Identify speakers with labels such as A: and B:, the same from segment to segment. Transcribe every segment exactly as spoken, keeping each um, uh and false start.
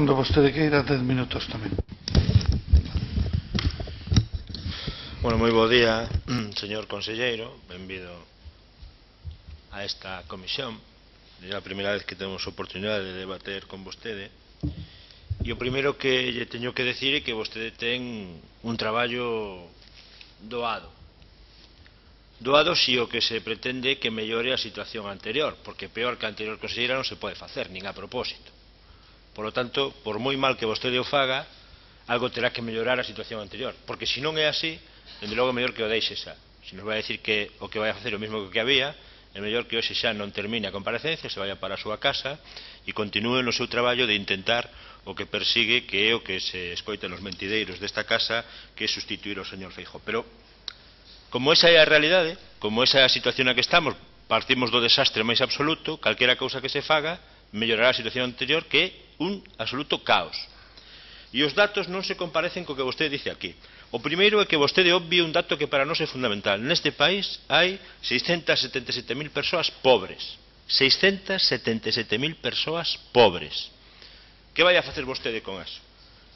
A: Cando vostede queira, dez minutos tamén.
B: Bueno, moi bo día, señor conselleiro, benvido a esta comisión. É a primeira vez que temos oportunidade de debater con vostede. E o primeiro que lle teño que decir é que vostede ten un traballo doado. Doado si o que se pretende que mellore a situación anterior, porque peor que a anterior conselleira non se pode facer, nin a propósito. Por lo tanto, por moi mal que vostede o faga, algo terá que mellorar a situación anterior, porque se non é así, dende logo é mellor que o deixe xa. Se nos vai a decir que o que vai a facer o mesmo que había, é mellor que hoxe xa non termine a comparecencia, se vaya para a súa casa e continúe no seu traballo de intentar o que persigue, que é o que se escoita nos mentideiros desta casa, que é sustituir ao señor Feijóo. Pero, como esa é a realidade, como esa é a situación na que estamos, partimos do desastre máis absoluto, calquera cousa que se faga mellorará a situación anterior, que é un absoluto caos. E os datos non se comparecen co que vostede dice aquí. O primeiro é que vostede obvie un dato que para nós é fundamental. Neste país hai seiscentas setenta e sete mil persoas pobres. seiscentas setenta e sete mil persoas pobres. Que vai a facer vostede con eso?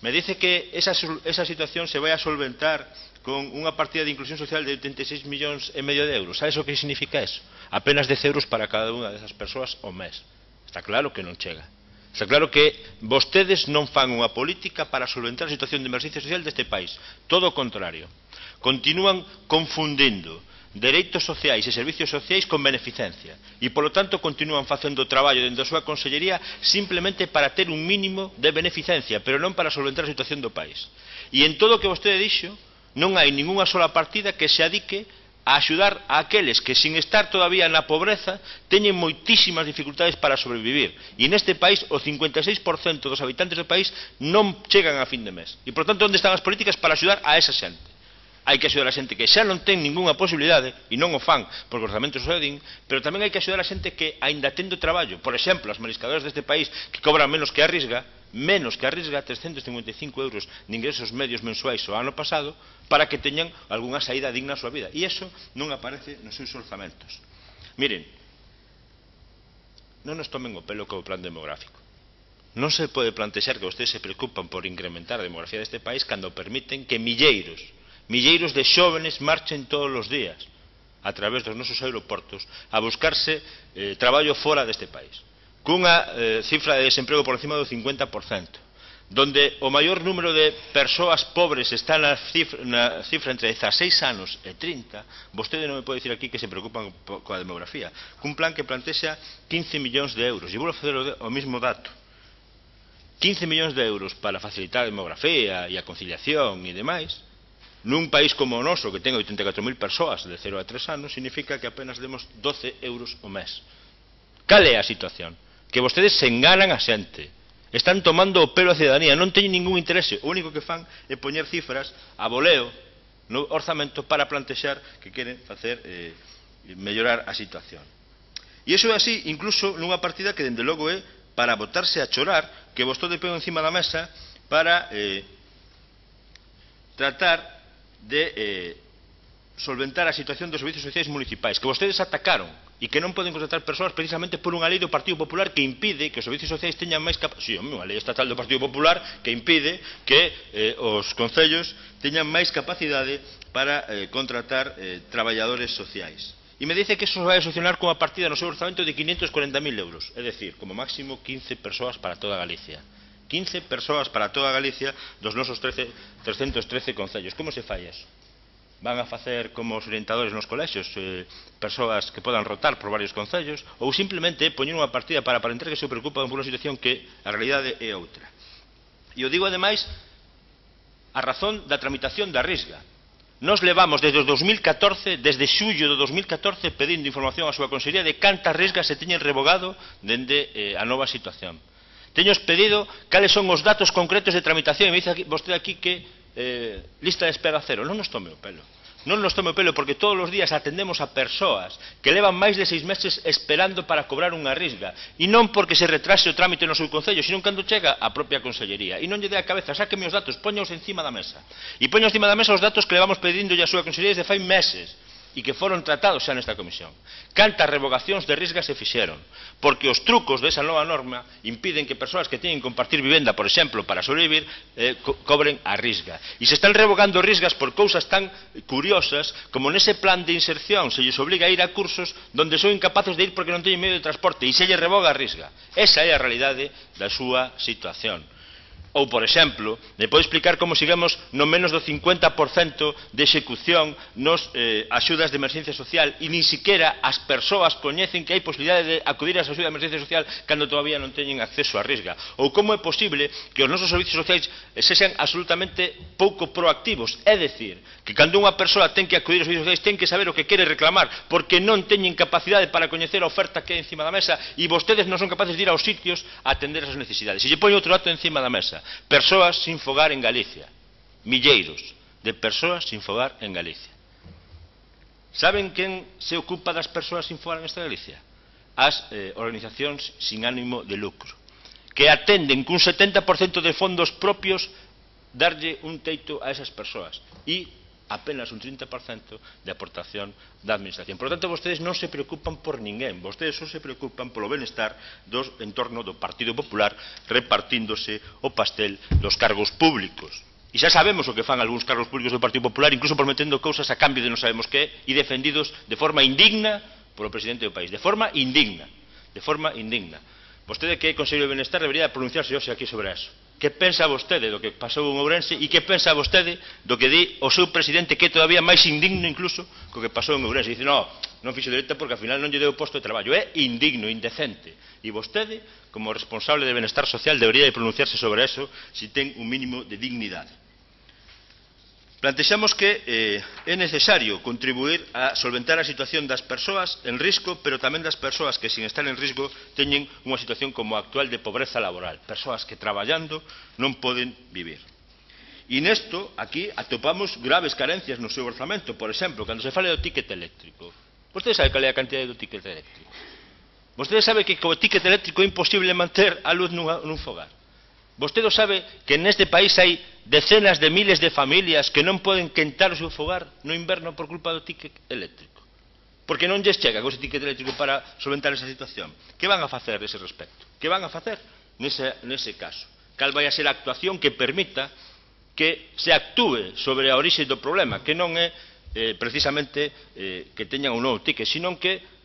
B: Me dice que esa, esa situación se vai a solventar con unha partida de inclusión social de oitenta e seis millóns e medio de euros. Sabe o que significa eso? Apenas dez euros para cada unha desas persoas ao mes. Está claro que non chega. Está claro que vostedes non fan unha política para solventar a situación de emerxencia social deste país. Todo o contrario. Continúan confundindo dereitos sociais e servicios sociais con beneficencia. E, polo tanto, continúan facendo o traballo dentro da súa consellería simplemente para ter un mínimo de beneficencia, pero non para solventar a situación do país. E en todo o que vostede dixo, non hai ningunha sola partida que se adique a axudar a aqueles que, sin estar todavía na pobreza, teñen moitísimas dificultades para sobrevivir. E neste país, o cincuenta e seis por cento dos habitantes do país non chegan a fin de mes. E, por tanto, onde están as políticas para axudar a esa xente? Hai que axudar a xente que xa non ten ningunha posibilidade, e non o fan, porque os orzamentos o din, pero tamén hai que axudar a xente que, aínda tendo traballo, por exemplo, as mariscadoras deste país, que cobran menos que a Risga, menos que a Risga, trescentos cincuenta e cinco euros de ingresos medios mensuais o ano pasado, para que teñan algunha saída digna a súa vida. E iso non aparece nos seus orzamentos. Miren, non nos tomen o pelo co plan demográfico. Non se pode plantexar que vostedes se preocupan por incrementar a demografía deste país cando permiten que milleiros, milleiros de xóvenes marchen todos os días a través dos nosos aeroportos a buscarse eh, traballo fora deste país, cunha eh, cifra de desemprego por encima do cincuenta por cento, donde o maior número de persoas pobres está na cifra, na cifra entre dezaseis anos e trinta. Vostede non me pode dicir aquí que se preocupan coa demografía, cun plan que plantexa quince millóns de euros. E vou facer o mesmo dato: quince millóns de euros para facilitar a demografía e a conciliación e demais. Nun país como o noso, que ten oitenta e catro mil persoas de cero a tres anos, significa que apenas demos doce euros o mes. Cal é a situación? Que vostedes se enganan a xente. Están tomando o pelo a cidadanía, non teñen ningún interese. O único que fan é poñer cifras a voleo no orzamento para plantexar que queren facer eh, mellorar a situación. E iso é así, incluso nunha partida que, dende logo, é para botarse a chorar, que vostede pego encima da mesa para eh, tratar de eh, solventar a situación dos servicios sociais municipais, que vostedes atacaron e que non poden contratar persoas precisamente por unha lei do Partido Popular que impide que os servicios sociais teñan máis capacidade. Si, unha lei estatal do Partido Popular que impide que eh, os concellos teñan máis capacidade para eh, contratar eh, traballadores sociais. E me dice que eso vai a solucionar con a partida no seu orzamento de quinhentos corenta mil euros, é dicir, como máximo quince persoas para toda Galicia. quince persoas para toda Galicia dos nosos trescentos trece concellos. Como se fai eso? Van a facer como os orientadores nos colexios, eh, persoas que podan rotar por varios concellos, ou simplemente poñer unha partida para aparentar que se preocupan por unha situación que a realidade é outra. E o digo ademais a razón da tramitación da Risga. Nos levamos desde o dos mil catorce, desde xullo do dos mil catorce, pedindo información á súa consellería de cantas risgas se teñen revogado dende eh, a nova situación. Teños pedido cales son os datos concretos de tramitación e me dice aquí, vostede aquí que eh, lista de espera cero. Non nos tome o pelo. Non nos tome o pelo porque todos os días atendemos a persoas que levan máis de seis meses esperando para cobrar unha risga. E non porque se retrase o trámite no seu concello, sino cando chega a propia consellería. E non lle dé a cabeza, sáqueme os datos, poñaos encima da mesa. E poña encima da mesa os datos que levamos pedindo a súa consellería desde fai meses. e que foron tratados xa nesta comisión. Cantas revogacións de risga se fixeron, porque os trucos desa nova norma impiden que persoas que teñen que compartir vivenda, por exemplo, para sobrevivir, eh, co cobren a risga. E se están revogando risgas por cousas tan curiosas como nese plan de inserción se lles obliga a ir a cursos donde son incapaces de ir porque non teñen medio de transporte e se lles revoga a risga. Esa é a realidade da súa situación. Ou, por exemplo, me pode explicar como sigamos no menos do cincuenta por cento de execución nos eh, axudas de emerxencia social e nin siquiera as persoas coñecen que hai posibilidade de acudir ás axudas de emerxencia social cando todavía non teñen acceso á risga. Ou como é posible que os nosos servicios sociais sexan absolutamente pouco proactivos. É dicir, que cando unha persoa ten que acudir aos servicios sociais ten que saber o que quere reclamar porque non teñen capacidade para coñecer a oferta que hai encima da mesa e vostedes non son capaces de ir aos sitios a atender as necesidades. E lle poño outro dato encima da mesa. Persoas sin fogar en Galicia, milleiros de persoas sin fogar en Galicia. Saben quen se ocupa das persoas sin fogar en esta Galicia? As eh, organizacións sin ánimo de lucro, que atenden cun setenta por cento de fondos propios darlle un teito a esas persoas e apenas un trinta por cento de aportación da administración. Por lo tanto, vostedes non se preocupan por ninguén, vostedes só se preocupan polo benestar dos en torno do Partido Popular repartíndose o pastel dos cargos públicos. E xa sabemos o que fan algúns cargos públicos do Partido Popular, incluso prometendo cousas a cambio de non sabemos que, e defendidos de forma indigna polo presidente do país, de forma indigna, de forma indigna. Vostede que é Consello de Benestar debería pronunciarse hoxe aquí sobre eso. Que pensa vostede do que pasou en Ourense e que pensa vostede do que di o seu presidente, que é todavía máis indigno incluso co que pasou en Ourense? Dice, non, non fixo dereita porque ao final non lle deu posto de traballo. É indigno, indecente. E vostede, como responsable de Benestar Social, debería de pronunciarse sobre eso se ten un mínimo de dignidade. Plantexamos que eh, é necesario contribuir a solventar a situación das persoas en risco, pero tamén das persoas que, sin estar en risco, teñen unha situación como a actual de pobreza laboral. Persoas que, traballando, non poden vivir. E nesto, aquí, atopamos graves carencias no seu orzamento. Por exemplo, cando se fale do ticket eléctrico. Vostede sabe cal é a cantidade do ticket eléctrico? Vostede sabe que co ticket eléctrico é imposible manter a luz nun, nun fogar? Vostede sabe que neste país hai decenas de miles de familias que non poden quentar o seu fogar no inverno por culpa do ticket eléctrico? Porque non lles chega con ese ticket eléctrico para solventar esa situación. Que van a facer nese respecto? Que van a facer nese, nese caso? Cal vai a ser a actuación que permita que se actúe sobre a orixe do problema, que non é eh, precisamente eh, que teñan un novo ticket, sino que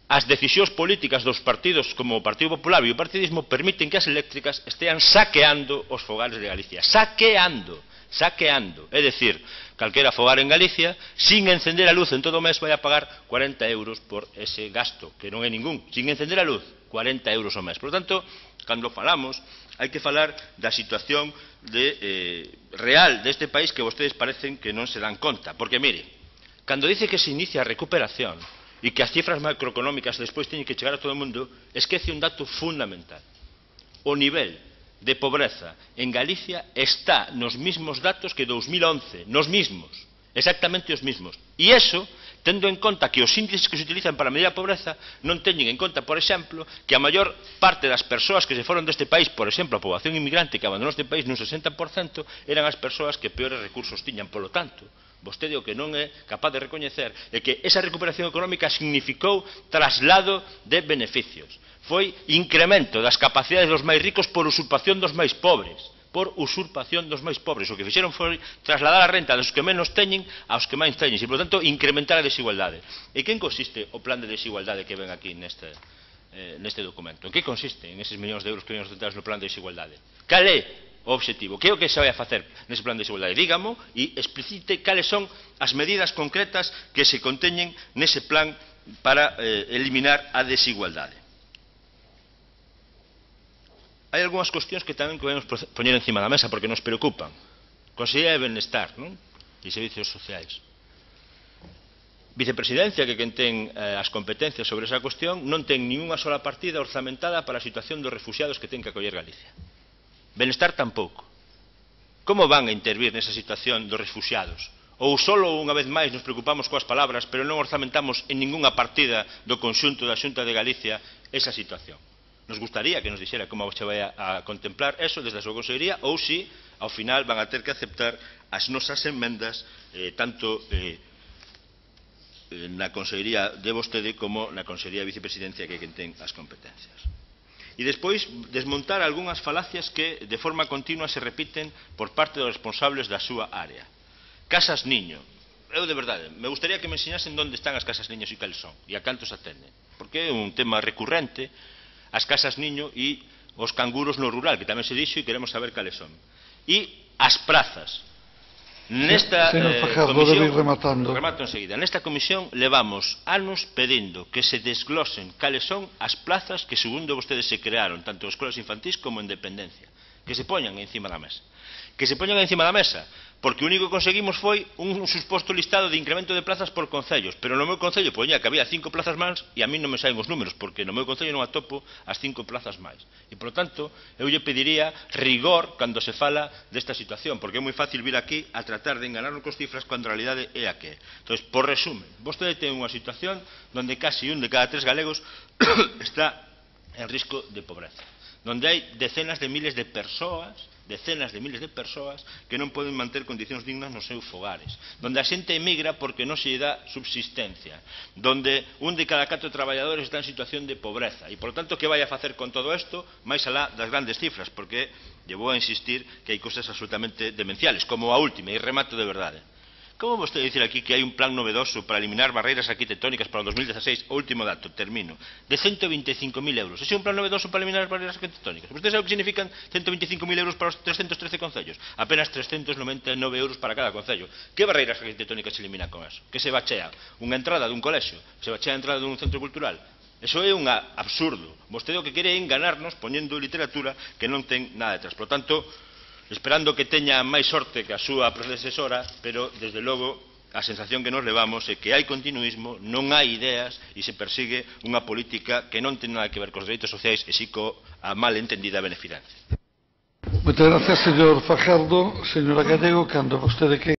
B: as decisións políticas dos partidos como o Partido Popular e o partidismo permiten que as eléctricas estean saqueando os fogares de Galicia. Saqueando, saqueando. É dicir, calquera fogar en Galicia, sin encender a luz en todo o mes, vai a pagar cuarenta euros por ese gasto, que non é ningún. Sin encender a luz, cuarenta euros ao mes. Por lo tanto, cando falamos, hai que falar da situación de, eh, real deste país que vostedes parecen que non se dan conta. Porque, mire, cando dice que se inicia a recuperación, e que as cifras macroeconómicas despois teñen que chegar a todo o mundo, esquece un dato fundamental. O nivel de pobreza en Galicia está nos mismos datos que dous mil once, nos mismos, exactamente os mismos. E iso, tendo en conta que os índices que se utilizan para medir a pobreza non teñen en conta, por exemplo, que a maior parte das persoas que se foron deste país, por exemplo, a poboación inmigrante que abandonou este país nun sesenta por cento, eran as persoas que peores recursos tiñan. Polo tanto, vostede o que non é capaz de recoñecer é que esa recuperación económica significou traslado de beneficios. Foi incremento das capacidades dos máis ricos por usurpación dos máis pobres. Por usurpación dos máis pobres. O que fixeron foi trasladar a renta dos que menos teñen aos que máis teñen. E, por tanto, incrementar a desigualdade. E quen consiste o plan de desigualdade que ven aquí neste, eh, neste documento? En que consiste en eses millóns de euros que ven ostentados no plan de desigualdade? Cal é o obxectivo? Que é o que se vai a facer nese plan de desigualdade? Dígamo e explicite cales son as medidas concretas que se conteñen nese plan para eh, eliminar a desigualdade. Hai algunhas cuestións que tamén podemos poñer encima da mesa porque nos preocupan. Consellería de Benestar, non? E Servicios Sociais. Vicepresidencia, que quen ten eh, as competencias sobre esa cuestión, non ten ninguna sola partida orzamentada para a situación dos refuxiados que ten que acoller Galicia. Benestar tampouco. Como van a intervir nesa situación dos refuxiados? Ou solo unha vez máis nos preocupamos coas palabras, pero non orzamentamos en ningunha partida do conxunto da Xunta de Galicia esa situación? Nos gustaría que nos dixera como se vai a contemplar eso desde a súa consellería, ou si ao final van a ter que aceptar as nosas enmendas, eh, tanto eh, eh, na Consellería de vostede como na Consellería de Vicepresidencia, que é quen ten as competencias. E despois desmontar algunhas falacias que de forma continua se repiten por parte dos responsables da súa área. Casas niño. Eu, de verdade, me gustaría que me enseñasen onde están as casas niños e cales son, e a cantos atenden, porque é un tema recurrente, as casas niño e os canguros no rural, que tamén se dixo e queremos saber cales son. E as prazas. Nesta
A: Señor Fajardo,
B: comisión,
A: debe ir rematando.
B: remato enseguida, nesta comisión levamos anos pedindo que se desglosen cales son as plazas que segundo vostedes se crearon, tanto en escolas infantís como en dependencia, que se poñan encima da mesa. Que se poñan encima da mesa, porque o único que conseguimos foi un suposto listado de incremento de plazas por concellos, pero no meu concello poñía que había cinco plazas máis e a mí non me saen os números, porque no meu concello non atopo as cinco plazas máis. E, por lo tanto, eu lle pediría rigor cando se fala desta situación, porque é moi fácil vir aquí a tratar de enganarnos con cifras cando a realidade é a que é. Entón, por resumen, vostede ten unha situación onde casi un de cada tres galegos está en risco de pobreza, onde hai decenas de miles de persoas decenas de miles de persoas que non poden manter condicións dignas nos seus fogares, donde a xente emigra porque non se lle dá subsistencia, donde un de cada catro traballadores está en situación de pobreza, e, por lo tanto, que vai a facer con todo isto, máis alá das grandes cifras, porque lle vou a insistir que hai cosas absolutamente demenciales, como a última, e remato de verdade. Como vostede dicir aquí que hai un plan novedoso para eliminar barreiras arquitectónicas para o dos mil dezaseis, o último dato, termino, de ciento veinti e cinco mil euros? Ese é un plan novedoso para eliminar as barreiras arquitectónicas. Vostede sabe o que significan ciento veinti e cinco mil euros para os trescentos trece concellos? Apenas trescentos noventa e nove euros para cada concello. Que barreiras arquitectónicas se eliminan con eso? Que se bachea unha entrada dun colexio? Se bachea a entrada dun centro cultural? Eso é un absurdo. Vostede o que quere é enganarnos poñendo literatura que non ten nada detrás. Por lo tanto, esperando que teña máis sorte que a súa predecesora, pero, desde logo, a sensación que nos levamos é que hai continuismo, non hai ideas e se persigue unha política que non ten nada que ver cos dereitos sociais e si coa mal entendida beneficencia.
A: Moitas gracias, señor Fajardo. Señora Gallego, cando vostede que